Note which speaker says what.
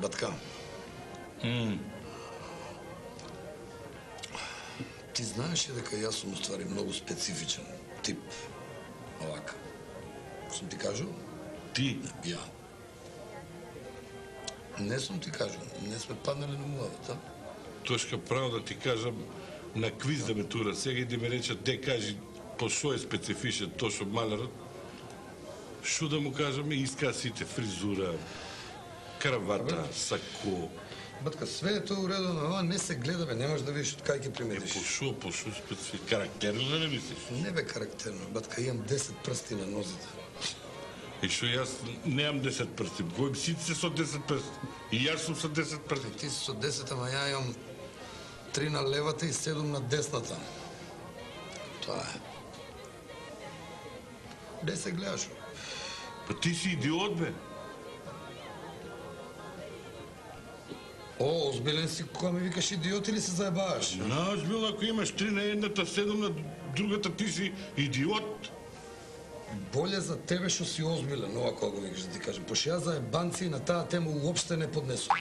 Speaker 1: Батка. Ти знаеш ли дека јас сум уствари многу специфичен тип, овака. Сум ти кажал?
Speaker 2: Ти?
Speaker 1: Ја. Не сум ти кажал, не сме паднали на муавата.
Speaker 2: Тошка право да ти кажам, на квиз да ме тура сега и да ме речат, де кажи, по шо е специфичен Тошо Малерот, шо да му кажаме, иска сите, фризура, кравата, сако.
Speaker 1: Батка, све е тоа уредно, но ова не се гледа, бе, немаш да видиш од кај ќе приметиш.
Speaker 2: По шо специфичен, карактерно да не мислиш?
Speaker 1: Не бе карактерно, батка, имам 10 прсти на нозите.
Speaker 2: И шо јас немам 10 прсти, гојм сите се со 10 прсти. И јас сум со 10 прсти.
Speaker 1: Ти си со 10, ама ја имам 3 на левата и 7 на десната. Тоа е. Де се гледаш?
Speaker 2: Па ти си идиот, бе.
Speaker 1: О, озбилен си кога ми викаш идиот или се заебаваш?
Speaker 2: Наозбилно, ако имаш 3 на едната, 7 на другата, ти си идиот.
Speaker 1: Боле за тебе што си озбилен, ова кога го викаш да ти кажем. Пошто јас заебанци на таа тема уопште не поднесувам.